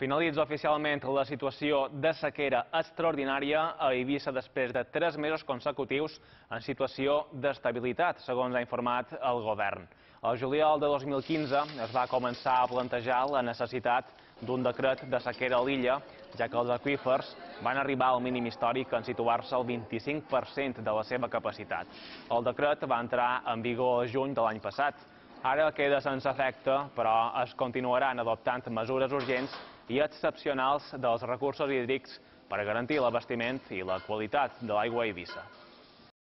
Finalitza oficialment la situació de sequera extraordinària a Eivissa després de 3 mesos consecutius en situació d'estabilitat, segons ha informat el govern. Al juliol de 2015 es va començar a plantejar la necessitat d'un decret de sequera a l'illa, ja que els aqüífers van arribar al mínim històric en situar-se al 25% de la seva capacitat. El decret va entrar en vigor a juny de l'any passat. Ara queda sense efecte, però es continuaran adoptant mesures urgents i excepcionals dels recursos hídrics per garantir l'abastiment i la qualitat de l'aigua a Eivissa.